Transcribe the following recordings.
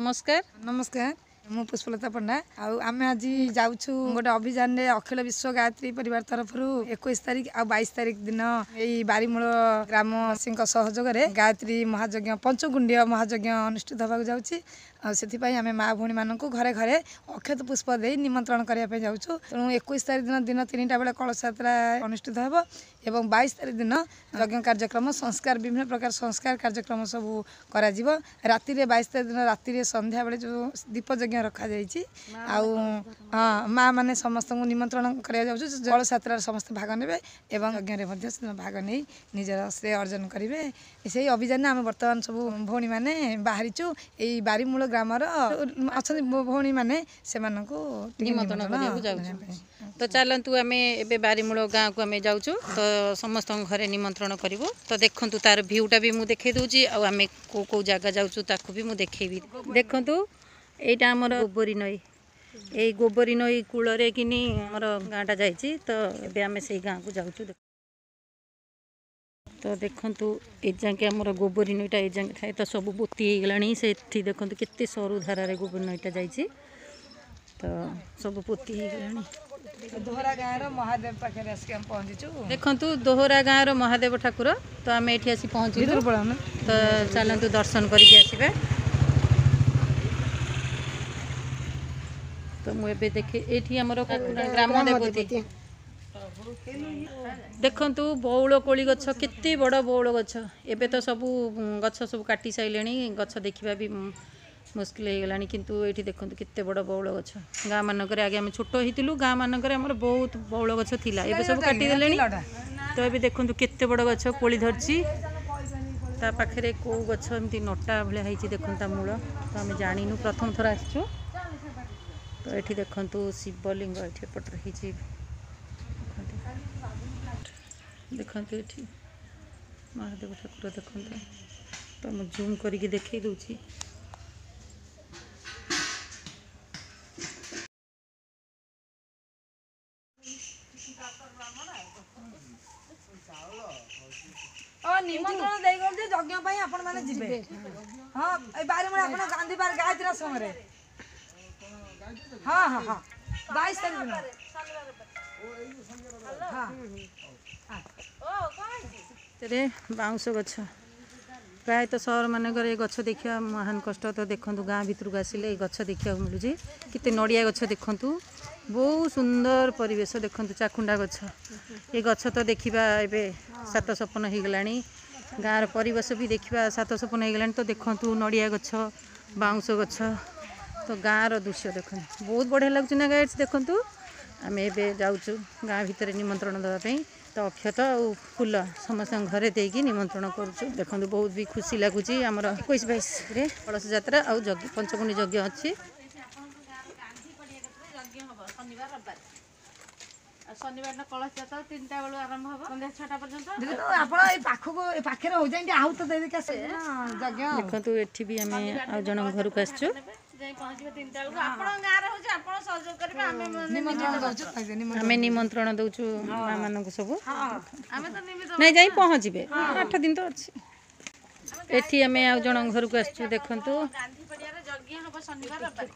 ନମସ୍କାର। ନମସ୍କାର, ମୁଁ ପୁଷ୍ପଲତା ପଣ୍ଡା। ଆଉ ଆମେ ଆଜି ଯାଉଛୁ ଗୋଟେ ଅଭିଯାନରେ ଅଖିଳ ବିଶ୍ୱ ଗାୟତ୍ରୀ ପରିବାର ତରଫରୁ 21 ତାରିଖ ଆଉ 22 ତାରିଖ ଦିନ ଏଇ ବାରିମୂଳ ଗ୍ରାମବାସୀଙ୍କ ସହଯୋଗରେ ଗାୟତ୍ରୀ ମହାଯଜ୍ଞ, ପଞ୍ଚକୁଣ୍ଡୀୟ ମହାଯଜ୍ଞ ଅନୁଷ୍ଠିତ ହେବାକୁ ଯାଉଛି। ଆଉ ସେଥିପାଇଁ ଆମେ ମା ଭଉଣୀମାନଙ୍କୁ ଘରେ ଘରେ ଅକ୍ଷତ ପୁଷ୍ପ ଦେଇ ନିମନ୍ତ୍ରଣ କରିବା ପାଇଁ ଯାଉଛୁ। ତେଣୁ 21 ତାରିଖ ଦିନ ଦିନ 3ଟା ବେଳେ କଳସ ଯାତ୍ରା ଅନୁଷ୍ଠିତ ହେବ ଏବଂ 22 ତାରିଖ ଦିନ ଯଜ୍ଞ କାର୍ଯ୍ୟକ୍ରମ, ସଂସ୍କାର, ବିଭିନ୍ନ ପ୍ରକାର ସଂସ୍କାର କାର୍ଯ୍ୟକ୍ରମ ସବୁ କରାଯିବ। ରାତିରେ 22 ତାରିଖ ଦିନ ରାତିରେ ସନ୍ଧ୍ୟାବେଳେ ଯେଉଁ ଦୀପ ଯଜ୍ଞ ରଖାଯାଇଛି, ଆଉ ହଁ ମା ମାନେ ସମସ୍ତଙ୍କୁ ନିମନ୍ତ୍ରଣ କରାଯାଉଛି। କଳସ ଯାତ୍ରାରେ ସମସ୍ତେ ଭାଗ ନେବେ ଏବଂ ଯଜ୍ଞରେ ମଧ୍ୟ ସେଦିନ ଭାଗ ନେଇ ନିଜର ଶ୍ରେୟ ଅର୍ଜନ କରିବେ। ସେଇ ଅଭିଯାନରେ ଆମେ ବର୍ତ୍ତମାନ ସବୁ ଭଉଣୀମାନେ ବାହାରିଛୁ। ଏଇ ବାରିମୂଳ ଗ୍ରାମର ଅଛନ୍ତି ଭଉଣୀମାନେ, ସେମାନଙ୍କୁ ନିମନ୍ତ୍ରଣ କରିବାକୁ ଯାଉଛୁ। ତ ଚାଲନ୍ତୁ, ଆମେ ଏବେ ବାରିମୂଳ ଗାଁକୁ ଆମେ ଯାଉଛୁ, ତ ସମସ୍ତଙ୍କ ଘରେ ନିମନ୍ତ୍ରଣ କରିବୁ। ତ ଦେଖନ୍ତୁ, ତାର ଭିଉଟା ବି ମୁଁ ଦେଖେଇ ଦେଉଛି, ଆଉ ଆମେ କେଉଁ କେଉଁ ଜାଗା ଯାଉଛୁ ତାକୁ ବି ମୁଁ ଦେଖେଇବି। ଦେଖନ୍ତୁ, ଏଇଟା ଆମର ଗୋବରୀ ନଈ। ଏଇ ଗୋବରୀ ନଈ କୂଳରେ କିନି ଆମର ଗାଁଟା ଯାଇଛି। ତ ଏବେ ଆମେ ସେଇ ଗାଁକୁ ଯାଉଛୁ। ତ ଦେଖନ୍ତୁ, ଏ ଯାକେ ଆମର ଗୋବରୀ ନଈଟା ଏ ଯାକେ ଥାଏ, ତ ସବୁ ପୋତି ହେଇଗଲାଣି। ସେଠି ଦେଖନ୍ତୁ କେତେ ସରୁ ଧାରାରେ ଗୋବରୀ ନଈଟା ଯାଇଛି, ତ ସବୁ ପୋତି ହେଇଗଲାଣି। ଦୋହରା ଗାଁର ମହାଦେବ ପାଖରେ ଆସିକି ଆମେ ପହଞ୍ଚିଛୁ। ଦେଖନ୍ତୁ, ଦୋହରା ଗାଁର ମହାଦେବ ଠାକୁର। ତ ଆମେ ଏଠି ଆସି ପହଞ୍ଚିଲୁ, ତ ଚାଲନ୍ତୁ ଦର୍ଶନ କରିକି ଆସିବା। ତ ମୁଁ ଏବେ ଦେଖେ, ଏଇଠି ଆମର ଗ୍ରାମ ଦେବତୀ। ଦେଖନ୍ତୁ ବଉଳ କୋଳି ଗଛ, କେତେ ବଡ଼ ବଉଳ ଗଛ। ଏବେ ତ ସବୁ ଗଛ ସବୁ କାଟି ସାରିଲେଣି, ଗଛ ଦେଖିବା ବି ମୁସ୍କିଲ ହେଇଗଲାଣି। କିନ୍ତୁ ଏଇଠି ଦେଖନ୍ତୁ କେତେ ବଡ଼ ବଉଳ ଗଛ। ଗାଁ ମାନଙ୍କରେ ଆଗେ ଆମେ ଛୋଟ ହେଇଥିଲୁ, ଗାଁ ମାନଙ୍କରେ ଆମର ବହୁତ ବଉଳ ଗଛ ଥିଲା, ଏବେ ସବୁ କାଟିଦେଲେଣି। ତ ଏବେ ଦେଖନ୍ତୁ କେତେ ବଡ଼ ଗଛ, କୋଳି ଧରିଛି। ତା ପାଖରେ କେଉଁ ଗଛ ଏମିତି ନଟା ଭଳିଆ ହେଇଛି, ଦେଖନ୍ତୁ ତା ମୂଳ। ତ ଆମେ ଜାଣିନୁ, ପ୍ରଥମ ଥର ଆସିଛୁ। ତ ଏଠି ଦେଖନ୍ତୁ ଶିବଲିଙ୍ଗ ଏଠି ଏପଟରେ ହେଇଛି। ଦେଖନ୍ତୁ, ଦେଖନ୍ତୁ ଏଠି ମହାଦେବ ଠାକୁର ଦେଖନ୍ତୁ। ତ ମୁଁ ଜୁମ୍ କରିକି ଦେଖେଇ ଦେଉଛି। ନିମନ୍ତ୍ରଣ ଦେଇଗଲେ ଯେ ଯଜ୍ଞ ପାଇଁ ଆପଣ ମାନେ ଯିବେ। ହଁ, ଏଇ ବାରିମୂଳ ଆପଣ ଗାନ୍ଧୀ ପାର୍କ ଗାୟତ୍ରୀ ଆଶ୍ରମରେ। ହଁ ହଁ ହଁ, 22 ତାରିଖ ଦିନ। ହଁ, ବାଉଁଶ ଗଛ। ପ୍ରାୟତଃ ସହରମାନଙ୍କରେ ଏ ଗଛ ଦେଖିବା ମହାନ କଷ୍ଟ। ତ ଦେଖନ୍ତୁ, ଗାଁ ଭିତରକୁ ଆସିଲେ ଏ ଗଛ ଦେଖିବାକୁ ମିଳୁଛି। କେତେ ନଡ଼ିଆ ଗଛ ଦେଖନ୍ତୁ, ବହୁତ ସୁନ୍ଦର ପରିବେଶ। ଦେଖନ୍ତୁ ଚାକୁଣ୍ଡା ଗଛ। ଏ ଗଛ ତ ଦେଖିବା ଏବେ ସାତ ସପନ ହେଇଗଲାଣି। ଗାଁର ପରିବେଶ ବି ଦେଖିବା ସାତ ସପନ ହେଇଗଲାଣି। ତ ଦେଖନ୍ତୁ ନଡ଼ିଆ ଗଛ, ବାଉଁଶ ଗଛ। ତ ଗାଁର ଦୃଶ୍ୟ ଦେଖନ୍ତୁ, ବହୁତ ବଢ଼ିଆ ଲାଗୁଛି ନା ଗାଇଡ୍ସ? ଦେଖନ୍ତୁ, ଆମେ ଏବେ ଯାଉଛୁ ଗାଁ ଭିତରେ ନିମନ୍ତ୍ରଣ ଦେବା ପାଇଁ। ତ ଅକ୍ଷତ ଆଉ ଫୁଲ ସମସ୍ତଙ୍କ ଘରେ ଦେଇକି ନିମନ୍ତ୍ରଣ କରୁଛୁ। ଦେଖନ୍ତୁ, ବହୁତ ବି ଖୁସି ଲାଗୁଛି। ଆମର 21 22ରେ କଳସ ଯାତ୍ରା ଆଉ ଯଜ୍ଞ, ପଞ୍ଚକୁଣ୍ଡୀ ଯଜ୍ଞ ଅଛି। ଶନିବାର ଦିନ କଳସ ଯାତ୍ରା 3ଟା ବେଳୁ ଆରମ୍ଭ ହବ, ସନ୍ଧ୍ୟା 6ଟା ପର୍ଯ୍ୟନ୍ତ। ଆପଣ ଏଇ ପାଖକୁ, ଏ ପାଖରେ ହଉଛି ଆଉ ତ ଦେଇକି ଯଜ୍ଞ। ଦେଖନ୍ତୁ, ଏଠି ବି ଆମେ ଆଉ ଜଣଙ୍କ ଘରକୁ ଆସିଛୁ। ଯାଇ ପହଞ୍ଚିବେ 3ଟା ବେଳକୁ। ଆପଣଙ୍କ ଗାଁରେ ହଉଛି, ଆପଣ ସହଯୋଗ କରିବେ। ଆମେ ଆମେ ନିମନ୍ତ୍ରଣ ଦଉଛୁ ମା ମାନଙ୍କୁ ସବୁ। ଆମେ ତ ନିମିତ୍ତ ନାଇଁ, ଯାଇ ପହଞ୍ଚିବେ, 8 ଦିନ ତ ଅଛି। ଏଠି ଆମେ ଆଉ ଜଣଙ୍କ ଘରକୁ ଆସିଛୁ। ଦେଖନ୍ତୁ, ଗାନ୍ଧୀ ପଡ଼ିଆରେ ଯଜ୍ଞ ହବ ଶନିବାର ରବିବାର।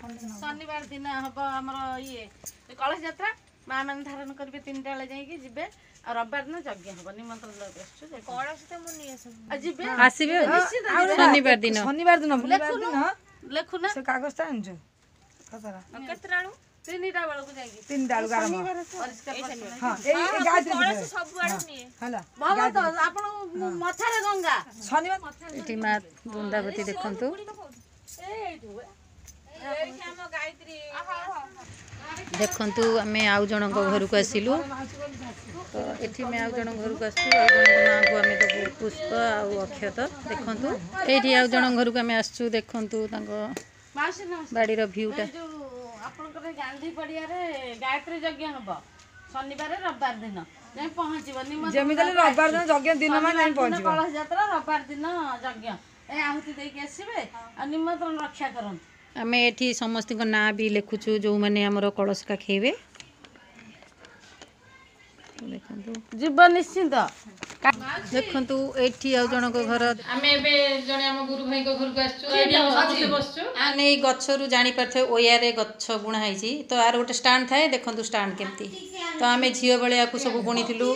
ଶନିବାର ଦିନ ହବ ଆମର ଇଏ କଳସ ଯାତ୍ରା, ମା ମାନେ ଧାରଣ କରିବେ, 3ଟା ବେଳେ ଯାଇକି ଯିବେ। ଆଉ ରବିବାର ଦିନ ଯଜ୍ଞ ହବ। ନିମନ୍ତ୍ରଣ ଦେବାକୁ ଆସିଛୁ। କଳସ ତ ମୁଁ ନେଇ ଯିବେ, ଆସିବେ ଶନିବାର ଦିନ। ଶନିବାର ଦିନ। ଲେଖୁନୁ, ଲେଖୁନା ସେ କାଗଜଟା ଆଣିଛୁ। କେତେଟା ବେଳକୁ? 3ଟା ବେଳକୁ ଯାଇକି, 3ଟା ବେଳକୁ ଆରମ୍ଭ। ହଁ, ଭଲ ତ ଆପଣ ମଥାରେ ଗଙ୍ଗା। ଶନିବାର ଏଠି ମା ବୃନ୍ଦାବତୀ ଦେଖନ୍ତୁ। ଦେଖନ୍ତୁ, ଆମେ ଆଉ ଜଣଙ୍କ ଘରକୁ ଆସିଲୁ। ତ ଏଠି ଆମେ ଆଉ ଜଣଙ୍କ ଘରକୁ ଆସିଛୁ, ଆଉ ଜଣଙ୍କ ମାଆଙ୍କୁ ଆମେ ଦେବୁ ପୁଷ୍ପ ଆଉ ଅକ୍ଷତ। ଦେଖନ୍ତୁ, ଏଇଠି ଆଉ ଜଣଙ୍କ ଘରକୁ ଆମେ ଆସିଛୁ। ଦେଖନ୍ତୁ ତାଙ୍କ ବାଡ଼ିର ଭିଉଟା। ଆପଣଙ୍କର ଗାନ୍ଧୀ ପଡ଼ିଆରେ ଗାୟତ୍ରୀ ଯଜ୍ଞ ହବ ଶନିବାର ରବିବାର ଦିନ ଯାଇ ପହଞ୍ଚିବ। ଯେମିତି ହେଲେ ରବିବାର ଦିନ ଯଜ୍ଞ ଦିନ ମାନେ ଯାଇ ପହଞ୍ଚିବ। କଳସ ଯାତ୍ରା, ରବିବାର ଦିନ ଯଜ୍ଞ, ଏ ଆହୁତି ଦେଇକି ଆସିବେ ଆଉ ନିମନ୍ତ୍ରଣ ରକ୍ଷା କରନ୍ତୁ। ଆମେ ଏଠି ସମସ୍ତଙ୍କ ନାଁ ବି ଲେଖୁଛୁ, ଯେଉଁମାନେ ଆମର କଳସ କାଖେଇବେ। ଦେଖନ୍ତୁ, ଯିବ ନିଶ୍ଚିନ୍ତ। ଦେଖନ୍ତୁ ଏଇଠି ଆଉ ଜଣଙ୍କ ଘର। ଆମେ ଏବେ ଜଣେ ଆମ ଗୁରୁ ଭାଇଙ୍କ ଘରକୁ ଆସିଛୁ, ଏଇଠି ଆମେ ସମସ୍ତେ ବସିଛୁ। ଆମେ ଏଇ ଗଛରୁ ଜାଣିପାରିଥିବେ ଓୟାରେ ଗଛ ବୁଣା ହେଇଛି। ତ ଆର ଗୋଟେ ଷ୍ଟାଣ୍ଡ ଥାଏ, ଦେଖନ୍ତୁ ଷ୍ଟାଣ୍ଡ କେମିତି। ତ ଆମେ ଝିଅ ବେଳେ ୟାକୁ ସବୁ ବୁଣିଥିଲୁ,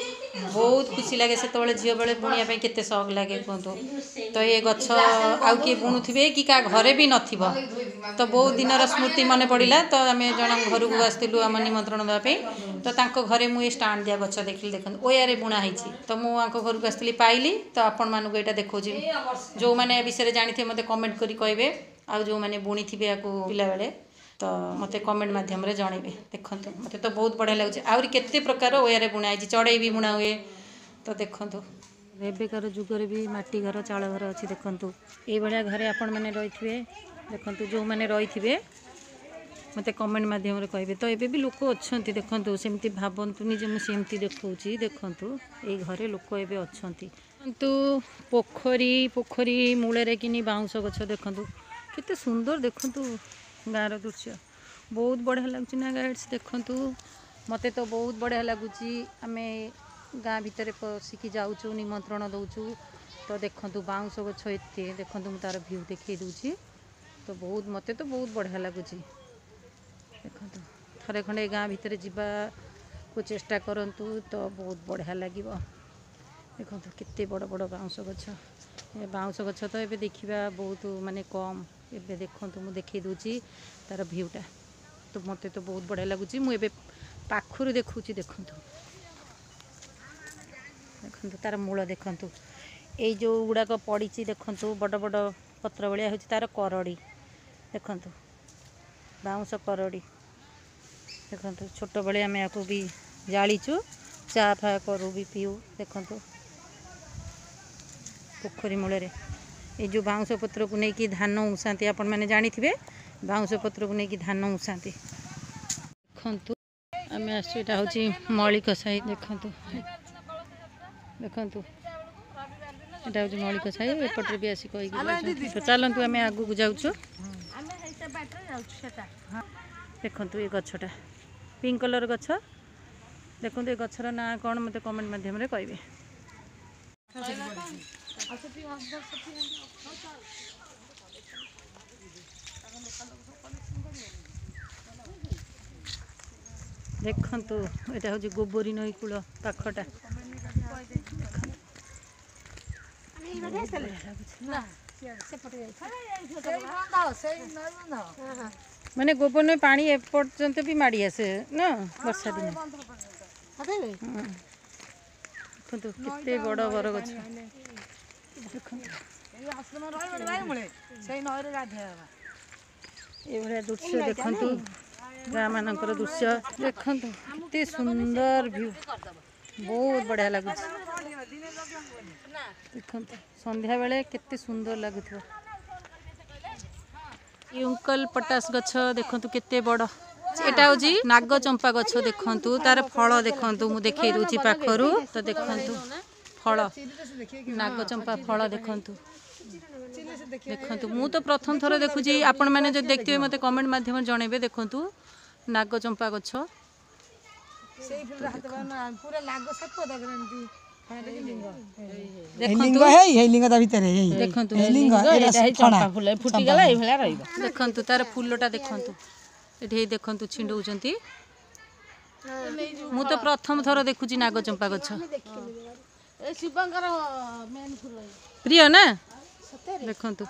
ବହୁତ ଖୁସି ଲାଗେ ସେତେବେଳେ। ଝିଅ ବେଳେ ବୁଣିବା ପାଇଁ କେତେ ସଉକ ଲାଗେ କୁହନ୍ତୁ। ତ ଏ ଗଛ ଆଉ କିଏ ବୁଣୁଥିବେ କି କାହା ଘରେ ବି ନଥିବ। ତ ବହୁତ ଦିନର ସ୍ମୃତି ମନେ ପଡ଼ିଲା। ତ ଆମେ ଜଣଙ୍କ ଘରକୁ ଆସିଥିଲୁ ଆମ ନିମନ୍ତ୍ରଣ ଦେବା ପାଇଁ, ତ ତାଙ୍କ ଘରେ ମୁଁ ଏ ଷ୍ଟାଣ୍ଡ ଦିଆ ଗଛ ଦେଖିଲି। ଦେଖନ୍ତୁ ଓୟାରେ ବୁଣା ହେଇଛି। ତ ମୁଁ ଆଙ୍କ ଘରକୁ ଆସିଥିଲି, ପାଇଲି, ତ ଆପଣମାନଙ୍କୁ ଏଇଟା ଦେଖାଉଛି। ଯେଉଁମାନେ ଏ ବିଷୟରେ ଜାଣିଥିବେ ମୋତେ କମେଣ୍ଟ କରି କହିବେ, ଆଉ ଯେଉଁମାନେ ବୁଣିଥିବେ ୟାକୁ ପିଲାବେଳେ ତ ମୋତେ କମେଣ୍ଟ ମାଧ୍ୟମରେ ଜଣେଇବେ। ଦେଖନ୍ତୁ ମୋତେ ତ ବହୁତ ବଢ଼ିଆ ଲାଗୁଛି। ଆହୁରି କେତେ ପ୍ରକାର ଓୟାରେ ବୁଣା ହେଇଛି, ଚଢ଼େଇ ବି ବୁଣା ହୁଏ। ତ ଦେଖନ୍ତୁ ଏବେକାର ଯୁଗରେ ବି ମାଟି ଘର, ଚାଳ ଘର ଅଛି। ଦେଖନ୍ତୁ ଏଇଭଳିଆ ଘରେ ଆପଣମାନେ ରହିଥିବେ। ଦେଖନ୍ତୁ ଯେଉଁମାନେ ରହିଥିବେ ମୋତେ କମେଣ୍ଟ ମାଧ୍ୟମରେ କହିବେ। ତ ଏବେ ବି ଲୋକ ଅଛନ୍ତି, ଦେଖନ୍ତୁ ସେମିତି ଭାବନ୍ତୁନି ଯେ ମୁଁ ସେମିତି ଦେଖାଉଛି। ଦେଖନ୍ତୁ ଏଇ ଘରେ ଲୋକ ଏବେ ଅଛନ୍ତି। ଦେଖନ୍ତୁ ପୋଖରୀ, ପୋଖରୀ ମୂଳରେ କିନି ବାଉଁଶ ଗଛ। ଦେଖନ୍ତୁ କେତେ ସୁନ୍ଦର, ଦେଖନ୍ତୁ ଗାଁର ଦୃଶ୍ୟ ବହୁତ ବଢ଼ିଆ ଲାଗୁଛି ନା ଗାଇଡ୍ସ? ଦେଖନ୍ତୁ ମୋତେ ତ ବହୁତ ବଢ଼ିଆ ଲାଗୁଛି। ଆମେ ଗାଁ ଭିତରେ ପଶିକି ଯାଉଛୁ, ନିମନ୍ତ୍ରଣ ଦେଉଛୁ। ତ ଦେଖନ୍ତୁ ବାଉଁଶ ଗଛ ଏତେ, ଦେଖନ୍ତୁ ମୁଁ ତାର ଭ୍ୟୁ ଦେଖେଇ ଦେଉଛି। ତ ବହୁତ ମୋତେ ତ ବହୁତ ବଢ଼ିଆ ଲାଗୁଛି। ଦେଖନ୍ତୁ ଥରେ ଖଣ୍ଡେ ଗାଁ ଭିତରେ ଯିବାକୁ ଚେଷ୍ଟା କରନ୍ତୁ, ତ ବହୁତ ବଢ଼ିଆ ଲାଗିବ। ଦେଖନ୍ତୁ କେତେ ବଡ଼ ବଡ଼ ବାଉଁଶ ଗଛ। ଏ ବାଉଁଶ ଗଛ ତ ଏବେ ଦେଖିବା ବହୁତ ମାନେ କମ୍। ଏବେ ଦେଖନ୍ତୁ ମୁଁ ଦେଖେଇ ଦେଉଛି ତାର ଭ୍ୟୁଟା। ତ ମୋତେ ତ ବହୁତ ବଢ଼ିଆ ଲାଗୁଛି। ମୁଁ ଏବେ ପାଖରୁ ଦେଖୁଛି। ଦେଖନ୍ତୁ ଦେଖନ୍ତୁ ତାର ମୂଳ ଦେଖନ୍ତୁ, ଏଇ ଯେଉଁ ଗୁଡ଼ାକ ପଡ଼ିଛି ଦେଖନ୍ତୁ ବଡ଼ ବଡ଼ ପତ୍ର ଭଳିଆ ହେଉଛି ତାର କରଡ଼ି। ଦେଖନ୍ତୁ ବାଉଁଶ କରଡ଼ି। ଦେଖନ୍ତୁ ଛୋଟବେଳେ ଆମେ ୟାକୁ ବି ଜାଳିଛୁ, ଚା ଫା କରୁ ବି ପିଉ। ଦେଖନ୍ତୁ ପୋଖରୀ ମୂଳରେ ଏଇ ଯେଉଁ ବାଉଁଶ ପତ୍ରକୁ ନେଇକି ଧାନ ଉଁସାନ୍ତି, ଆପଣମାନେ ଜାଣିଥିବେ ବାଉଁଶ ପତ୍ରକୁ ନେଇକି ଧାନ ଉଁସାନ୍ତି। ଦେଖନ୍ତୁ ଆମେ ଆସୁଛୁ, ଏଇଟା ହେଉଛି ମଳିକ ସାହି। ଦେଖନ୍ତୁ ଦେଖନ୍ତୁ ଏଇଟା ହେଉଛି ମଳିକ ସାହି। ଏପଟରେ ବି ଆସି କହିକି ଯାଉଛନ୍ତି। ତ ଚାଲନ୍ତୁ ଆମେ ଆଗକୁ ଯାଉଛୁ। ଦେଖନ୍ତୁ ଏ ଗଛଟା ପିଙ୍କ କଲର୍ ଗଛ। ଦେଖନ୍ତୁ ଏ ଗଛର ନାଁ କ'ଣ ମୋତେ କମେଣ୍ଟ ମାଧ୍ୟମରେ କହିବେ। ଦେଖନ୍ତୁ ଏଇଟା ହେଉଛି ଗୋବରୀ ନଈ କୂଳ ପାଖଟା। ଦେଖନ୍ତୁ ମାନେ ଗୋବର ନଈ ପାଣି ଏପର୍ଯ୍ୟନ୍ତ ବି ମାଡ଼ି ଆସେ ନା ବର୍ଷା ଦିନେ। ଦେଖନ୍ତୁ କେତେ ବଡ଼ ବରଗଛ। ଦେଖନ୍ତୁ ଏଇଭଳିଆ ଦୃଶ୍ୟ ଦେଖନ୍ତୁ ଗାଁ ମାନଙ୍କର ଦୃଶ୍ୟ। ଦେଖନ୍ତୁ କେତେ ସୁନ୍ଦର ଭ୍ୟୁ, ବହୁତ ବଢ଼ିଆ ଲାଗୁଛି। ଦେଖନ୍ତୁ ସନ୍ଧ୍ୟାବେଳେ କେତେ ସୁନ୍ଦର ଲାଗୁଥିବ। ୟୁଙ୍କଲ ପଟାସ ଗଛ ଦେଖନ୍ତୁ କେତେ ବଡ଼। ଏଟା ହେଉଛି ନାଗଚମ୍ପା ଗଛ। ଦେଖନ୍ତୁ ତାର ଫଳ ଦେଖନ୍ତୁ, ମୁଁ ଦେଖେଇ ଦେଉଛି ପାଖରୁ। ତ ଦେଖନ୍ତୁ ଫଳ, ନାଗଚମ୍ପା ଫଳ ଦେଖନ୍ତୁ। ଦେଖନ୍ତୁ ମୁଁ ତ ପ୍ରଥମ ଥର ଦେଖୁଛି, ଆପଣମାନେ ଯଦି ଦେଖିଥିବେ ମୋତେ କମେଣ୍ଟ ମାଧ୍ୟମରେ ଜଣେଇବେ। ଦେଖନ୍ତୁ ନାଗଚମ୍ପା ଗଛ। ଦେଖନ୍ତୁ ଦେଖନ୍ତୁ ତାର ଫୁଲଟା ଦେଖନ୍ତୁ ଏଠି ଦେଖନ୍ତୁ ଛିଣ୍ଡଉଛନ୍ତି। ମୁଁ ତ ପ୍ରଥମ ଥର ଦେଖୁଛି ନାଗଚମ୍ପା ଗଛ। ପ୍ରିୟ ନା? ଦେଖନ୍ତୁ